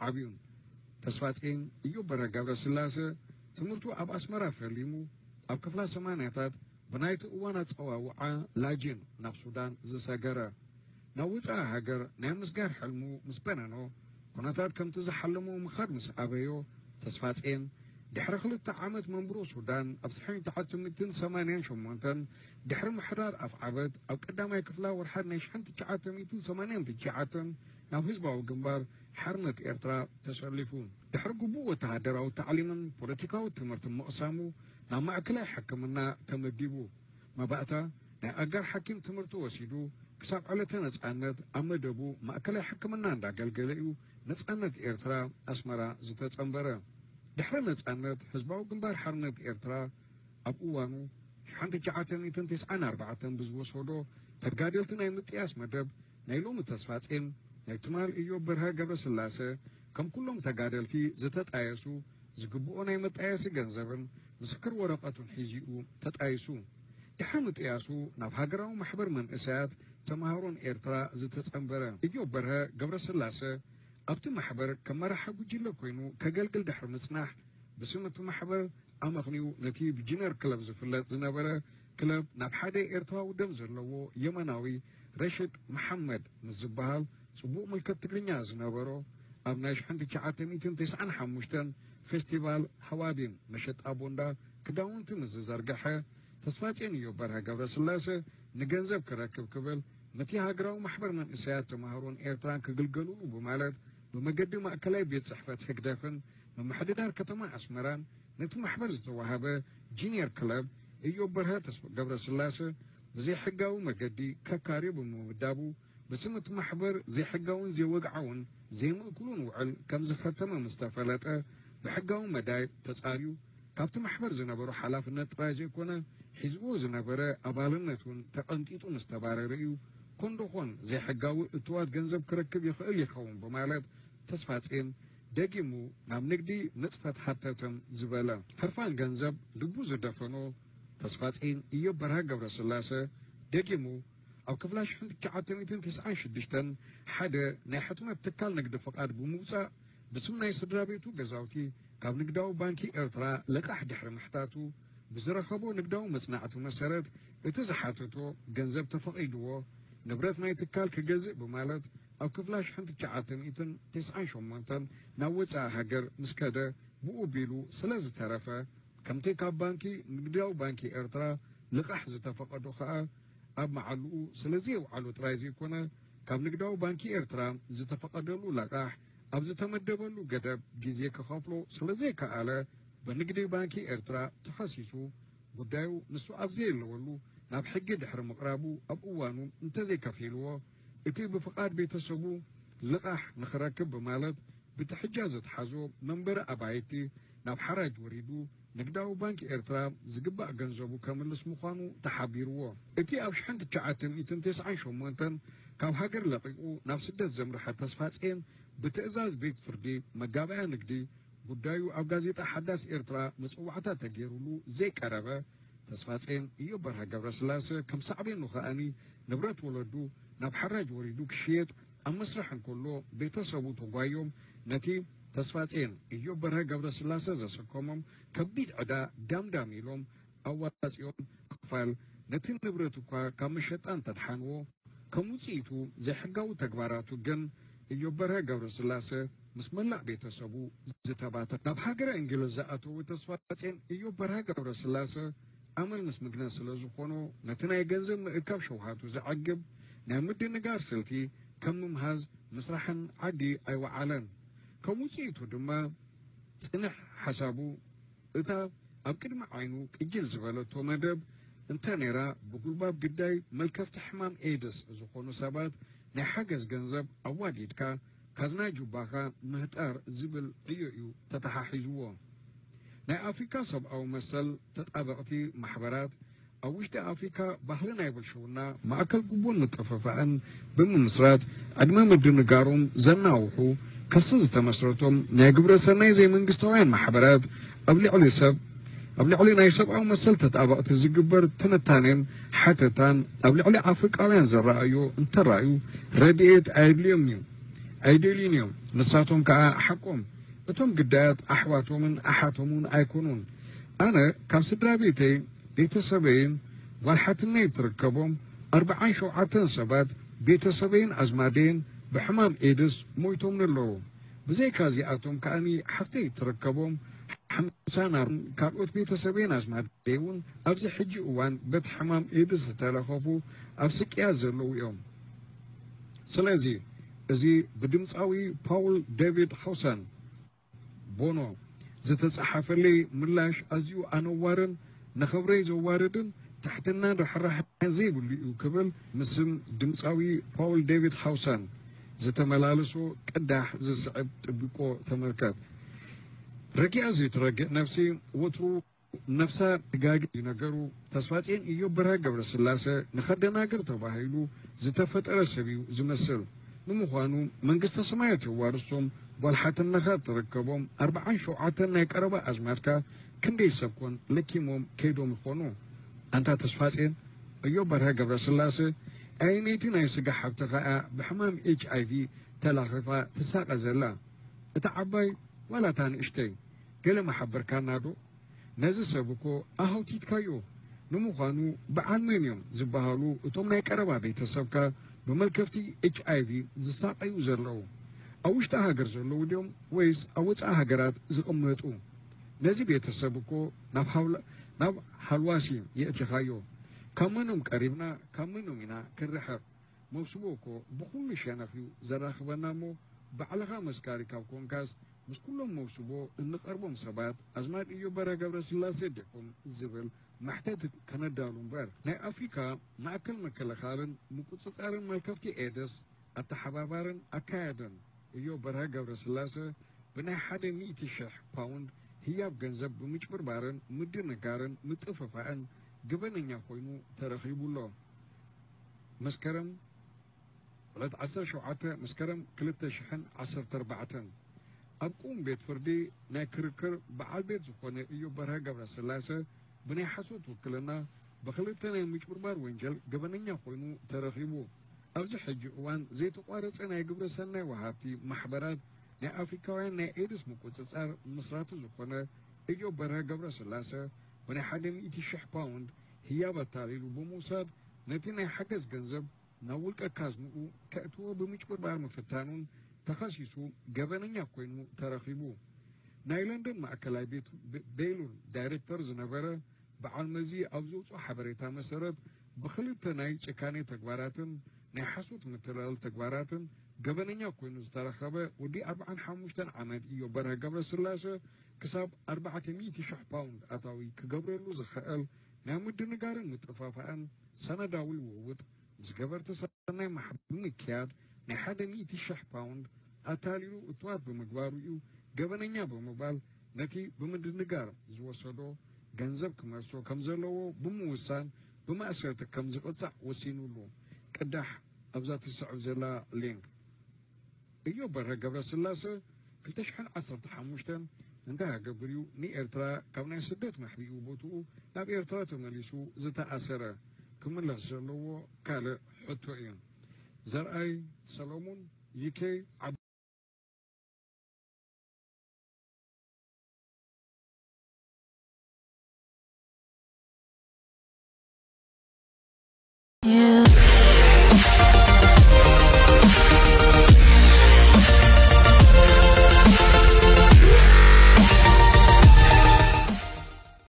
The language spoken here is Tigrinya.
ዓብዩን። ተስፋጼን እዮብ በርሀ ገብረስላሰ ትምህርቱ ኣብ ኣስመራ ፈሊሙ ኣብ ክፍላ ሰማንያታት ብናይቲ እዋን ኣጸዋውዓ ላጅን ናብ ሱዳን ዝሰገረ። ናብ ውጻኢ ሃገር ናይ ምስጋር ሕልሙ ምስ በነኖ፣ ኩነታት ከምቲ ዝሓለሞ ምኻድ ምስ ኣበዮ፣ ተስፋጼን ድሕሪ ክልተ ዓመት መንብሮ ሱዳን ኣብ ሽሕን ትሽዓተ ሚእትን ሰማንያን ሸሞንተን ድሕሪ ምሕዳር ኣፍዓበት ኣብ ቀዳማይ ክፍላ ወርሓት ናይ ሽሕን ትሽዓተ ሚእትን ሰማንያን ትሽዓተን ናብ ህዝባዊ ግንባር ሓርነት ኤርትራ ተሰሊፉ። ድሕሪ ግቡእ ወተሃደራዊ ታዕሊምን ፖለቲካዊ ትምህርትን ምቕሳሙ ናብ ማእከላይ ሕክምና ተመዲቡ። መባእታ ናይ ኣጋር ሓኪም ትምህርቲ ወሲዱ ክሳብ ዕለተ ነጻነት ኣብ መደቡ ማእከላይ ሕክምና እንዳገልገለ እዩ ነጻነት ኤርትራ ኣስመራ ዝተጸንበረ። ድሕሪ ነጻነት ህዝባዊ ግንባር ሓርነት ኤርትራ ኣብ እዋኑ ሽሕን ትሽዓተ ሚእትን ተስዓን ኣርባዕተን ብዝወሰዶ ተጋደልቲ ናይ ምጥያስ መደብ ናይ ሎሚ ተስፋጼን ናይ ትማል እዮብ በርሀ ገብረስላሰ ከም ኩሎም ተጋደልቲ ዝተጣየሱ ዝግብኦ ናይ መጣየሲ ገንዘብን ምስክር ወረቐቱን ሒዚኡ ተጣይሱ። ድሕሪ ምጥያሱ ናብ ሃገራዊ ማሕበር መንእሰያት ተምሃሮን ኤርትራ ዝተጸንበረ እዮብ በርሀ ገብረስላሰ ኣብቲ ማሕበር ከም መራሒ ጉጅለ ኮይኑ ከገልግል ድሕሪ ምጽናሕ ብስም እቲ ማሕበር ኣመኽንዩ ነቲ ብጂነር ክለብ ዝፍለጥ ዝነበረ ክለብ ናብ ሓደ ኤርትራዊ ደም ዘለዎ የመናዊ ረሽድ መሓመድ ምስ ዝበሃል ጽቡቕ ምልከት ትግርኛ ዝነበሮ ኣብ ናይ ሽሕን ትሽዓተ ሚእትን ተስዓን ሓሙሽተን ፌስቲቫል ሃዋዲን መሸጣ ቦንዳ ክዳውንቲ ምስ ዝዘርግሐ ተስፋጼን እዮብ በርሀ ገብረስላሰ ንገንዘብ ክረክብ ክብል ነቲ ሃገራዊ ማሕበር መንእሰያት ተምሃሮን ኤርትራን ክግልገሉሉ ብማለት ብመገዲ ማእከላይ ቤት ጽሕፈት ህግደፍን ምምሕድዳር ከተማ ኣስመራን ነቲ ማሕበር ዝተዋህበ ጂንየር ክለብ እዮብ በርሀ ተስፋ ገብረስላሰ ብዘይሕጋዊ መገዲ ከካርዮ ብምምዳቡ ብስም እቲ ማሕበር ዘይሕጋውን ዘይወግዓውን ዘይምእኩሉን ውዕል ከም ዝኸተመ ምስ ተፈለጠ ብሕጋዊ መዳይ ተጻርዩ ካብቲ ማሕበር ዝነበሮ ሓላፍነት ጥራይ ዘይኮነ ሒዝዎ ዝነበረ ኣባልነት እውን ተቐንጢጡ ምስ ተባረረ እዩ ኮንዶኾን ዘይሕጋዊ እትዋት ገንዘብ ክረክብ ይኽእል ይኸውን ብማለት ተስፋጼን ደጊሙ ናብ ንግዲ ንጥፈት ሃተተም ዝበለ። ህርፋን ገንዘብ ልቡ ዝደፈኖ ተስፋጼን እዮብ በርሀ ገብረስላሰ ደጊሙ ኣብ ክፍላ ሽሕን ትሽዓተ ሚእትን ተስዓን ሽዱሽተን ሓደ ናይ ሕትመት ትካል ንግዲ ፍቓድ ብምውጻእ ብስም ናይ ስድራ ቤቱ ገዛውቲ ካብ ንግዳዊ ባንኪ ኤርትራ ልቓሕ ድሕሪ ምሕታቱ ብዝረኸቦ ንግዳዊ መጽናዕቲ መሰረት እቲ ዝሓተቶ ገንዘብ ተፈቒድዎ ንብረት ናይ ትካል ክገዝእ ብማለት ኣብ ክፍላ ሽሕን ትሽዓተ ሚእትን ተስዓን ሸሞንተን ናብ ወጻኢ ሃገር ምስ ከደ ብኡ ቢሉ ስለ ዝተረፈ ከምቲ ካብ ባንኪ ንግዳዊ ባንኪ ኤርትራ ልቓሕ ዝተፈቐዶ ከኣ ኣብ መዓልኡ ስለ ዘየውዓሎ ጥራይ ዘይኮነ ካብ ንግዳዊ ባንኪ ኤርትራ ዝተፈቐደሉ ለቓሕ ኣብ ዝተመደበሉ ገደብ ግዜ ክኸፍሎ ስለ ዘይከኣለ ብንግዲ ባንኪ ኤርትራ ተኸሲሱ ጉዳዩ ንሱ ኣብ ዘየለወሉ ናብ ሕጊ ድሕሪ ምቕራቡ ኣብ እዋኑ እንተዘይከፊልዎ እቲ ብፍቓድ ቤተሰቡ ልቓሕ ንኽረክብ ብማለት ብትሕጃ ዘትሓዞ መንበሪ ኣባይቲ ናብ ሓራጅ ወሪዱ ንግዳዊ ባንኪ ኤርትራ ዝግባእ ገንዘቡ ከምልስ ምዃኑ ተሓቢርዎ። እቲ ኣብ ሽሕን ትሽዓተ ሚእትን ተስዓን ሸሞንተን ካብ ሃገር ለቒቑ ናብ ስደት ዘምርሐ ተስፋጼን ብትእዛዝ ቤት ፍርዲ መጋባእያ ንግዲ ጉዳዩ ኣብ ጋዜጣ ሓዳስ ኤርትራ መጸዋዕታ ተገይሩሉ ዘይቀረበ ተስፋጼን እዮብ በርሀ ገብረስላሰ ከም ሳዕቤኑ ከኣኒ ንብረት ወለዱ ናብ ሓራጅ ወሪዱ ክሽየጥ ኣብ መስርሕ እንከሎ ቤተሰቡ ተጓዮም ነቲ ተስፋጼን እዮብ በርሀ ገብረስላሰ ዘሰከሞም ከቢድ ዕዳ ዳምዳም ኢሎም ኣዋጺኦም ክፋል ነቲ ንብረት እኳ ካብ መሸጣ እንተድሓንዎ ከም ውጽኢቱ ዘይሕጋዊ ተግባራቱ ግን እዮብ በርሀ ገብረስላሰ ምስ መላእ ቤተሰቡ ዝተባተ ናብ ሃገረ እንግሊዝ ዝኣተወ ተስፋጼን እዮብ በርሀ ገብረስላሰ ኣመል ምስ ምግነ ስለ ዝኾኖ ነቲ ናይ ገንዘብ ምእካብ ሸውሃቱ ዘዕግብ ናይ ምድንጋር ስልቲ ከም ምምሃዝ ምስራሕን ዓዲ ኣይወዓለን። ከም ውጽኢቱ ድማ ጽንሕ ሓሳቡ እታ ኣብ ቅድሚ ዓይኑ ቅጅል ዝበለቶ መደብ እንተ ነይራ ብጉልባብ ግዳይ መልከፍቲ ሕማም ኤድስ ዝኾኑ ሰባት ናይ ሓገዝ ገንዘብ ኣዋዲድካ ካዝና ጁባኻ ምህጣር ዝብል ዕዮ እዩ ተተሓሒዝዎ። ናይ ኣፍሪካ ሰብኣዊ መሰል ተጣበቕቲ ማሕበራት ኣብ ውሽጢ ኣፍሪካ ባህሊ ናይ ብልሽውና ማእከል ጉቦን ምጥፍፋእን ብምምስራት ዕድመ ምድንጋሮም ዘናውሑ ክሲ ዝተመስረቶም ናይ ግብረ ሰናይ ዘይመንግስታውያን ማሕበራት ኣብ ልዕሊ ሰብ ኣብ ልዕሊ ናይ ሰብኣዊ መሰል ተጣበቕቲ ዝግበር ትንታኔን ሓተታን ኣብ ልዕሊ ኣፍሪቃውያን ዘረኣዮ እንተራእዩ ረድኤት ኣየድልዮም እዩ። ኣይደልዩን እዮም። ንሳቶም ከኣ ሓቆም። እቶም ግዳያት ኣሕዋቶምን ኣሓቶምን ኣይኮኑን። ኣነ ካብ ስድራ ቤተይ፣ ቤተሰበይን ጓል ሓትነይ እትርከቦም ኣርብዓን ሸውዓተን ሰባት ቤተሰበይን ኣዝማደይን ብሕማም ኤድስ ሞይቶምኒ ኣለዉ። ብዘይካ እዚኣቶም ከኣኒ ሓፍተይ እትርከቦም ሓምሳ ናብን ካልኦት ቤተሰበይን ኣዝማደይ እውን ኣብዚ ሕጂ እዋን በቲ ሕማም ኤድስ ዝተለኸፉ ኣብ ስቅያት ዘለዉ እዮም። ስለዚ እዚ ብድምፃዊ ፓውል ዴቪድ ሃውሰን፣ ቦኖ፣ ዝተፃሓፈለይ ምላሽ ኣዝዩ ኣነዋርን ንኽብረይ ዘዋርድን ትሕትናን ርሕራሕን ዘይብሉ እዩ ክብል ምስም ድምፃዊ ፓውል ዴቪድ ሃውሰን ዝተመላለሶ ቅዳሕ ዝስዕብ ጥብቆ ተመልከት። ረጊኣ ዘይትረግእ ነፍሲ ወትሩ ነፍሳ ትጋጊ እዩ ነገሩ። ተስፋጼን ኢዮብ በርሀ ገብረስላሰ ንኸደናግር ተባሂሉ ዝተፈጠረ ሰብ እዩ ዝመስል። ንምዃኑ መንግስተ ሰማያት የዋርሶም ጓል ሓትነኻ እትርከቦም ኣርብዓን ሸውዓተን ናይ ቀረባ ኣዝማድካ ክንደይ ሰብ ኮን ለኪሞም ከይዶም ይኾኑ? ኣንታ ተስፋጼን ኢዮብ በርሀ ገብረስላሰ ኣየነይቲ ናይ ስጋ ሓብትኻ እያ ብሕማም ኤች ኣይ ቪ ተላኺፋ ትሳቐ ዘላ? እታ ዓባይ ዋላ እታ ንእሽተይ? ገለ መሓበርካና ዶ? ነዚ ሰብ እኮ ኣሃውቲትካዮ። ንምዃኑ በዓል መን እዮም ዝበሃሉ እቶም ናይ ቀረባ ቤተሰብካ ብመልከፍቲ ኤች ኣይ ቪ ዝሳቐዩ ዘለዉ? ኣብ ውሽጢ ሃገር ዘለዉ ድዮም ወይስ ኣብ ወጻኢ ሃገራት ዝቕመጡ? ነዚ ቤተሰብ እኮ ናብ ሃውላ-፣ ናብ ሃልዋሲ የእቲኻዮ። ካብ መኖም ቀሪብና ካብ መኖም ኢና ክንርሕቕ? መውስቦ እኮ ብኹሉ ሸነኽ እዩ ዘራኽበና እሞ፣ ባዕልኻ መስካሪ ካብ ኮንካስ፣ ምስ ኩሎም መውስቦ እንቐርቦም ሰባት፣ ኣዝማድ ኢዮብ በርሀ ገብረስላሴ ዲኹም ዝብል መሕተት ከነዳሉ እምበር። ናይ ኣፍሪካ ማእከል ምክልኻልን ምቁጽጻርን መልከፍቲ ኤድስ ኣተሓባባርን ኣካያድን ኢዮብ በርሀ ገብረስላሰ ብናይ ሓደ ሚእቲ ሽሕ ፓውንድ ህያብ ገንዘብ ብምጭብርባርን ምድንጋርን ምጥፍፋእን ገበነኛ ኮይኑ ተረኺቡ ኣሎ። መስከረም ዕለት ዓሰርተ ሸውዓተ መስከረም ክልተ ሽሕን ዓሰርተ ኣርባዕተን ኣብ ቅዉም ቤት ፍርዲ ናይ ክርክር በዓል ቤት ዝኾነ ኢዮብ በርሀ ገብረስላሰ ብናይ ሓሶት ውክልና ብኽልተ ናይ ምጭብርባር ወንጀል ገበነኛ ኮይኑ ተረኺቡ። ኣብዚ ሕጂ እዋን ዘይተቋረጸ ናይ ግብረ ሰናይ ወሃብቲ ማሕበራት ናይ ኣፍሪካውያን ናይ ኤድስ ምቁጽጻር መስራቲ ዝኾነ ኢዮብ በርሀ ገብረስላሰ ብናይ ሓደ ሚእቲ ሽሕ ፓውንድ ህያብ ኣታሊሉ ብምውሳድ ነቲ ናይ ሓገዝ ገንዘብ ናብ ውልቀ ካዝንኡ ከእትዎ ብምጭብርባር ምፍታኑን ተኸሲሱ ገበነኛ ኮይኑ ተረኺቡ። ናይ ለንደን ማእከላይ ቤት ቤ-፣ ቤይሉል ዳይሬክተር ዝነበረ በዓል መዚ ኣብ ዘውፅኦ ሓበሬታ መሰረት ብኽልተ ናይ ጭካኔ ተግባራትን ናይ ሓሶት ምትላል ተግባራትን ገበነኛ ኮይኑ ዝተረኸበ ወዲ ኣርብዓን ሓሙሽተን ዓመት ኢዮብ በርሀ ገብረስላሰ ክሳብ ኣርባዕተ ሚእቲ ሽሕ ፓውንድ ኣታዊ ክገብረሉ ዝኽእል ናይ ምድንጋርን ምጥፋፋእን ሰነዳዊ ልውውጥ ምስ ገበርቲ ሰናይ ማሕበር ብምክያድ ናይ ሓደ ሚእቲ ሽሕ ፓውንድ ኣታሊሉ እትዋት ብምግባሩ እዩ ገበነኛ ብምባል ነቲ ብምድንጋር ዝወሰዶ ገንዘብ ክመልሶ ከም ዘለዎ ብምውሳን ብማእሰርቲ ከም ዝቕጻዕ ወሲኑሉ። ቅዳሕ ኣብዛ ትስዕብ ዘላ ሊንክ። ኢዮብ በርሀ ገብረስላሰ ክልተ ሽሕን ዓሰርተ ሓሙሽተን እንታይ ሃገብር እዩ ንኤርትራ ካብ ናይ ስደት መሕቢኡ ቦትኡ ናብ ኤርትራ ተመሊሱ ዝተኣሰረ? ክምለስ ዘለዎ ካልእ ሕቶ እዩ። ዘርኣይ ሰሎሙን፣ ዩ ኬ፣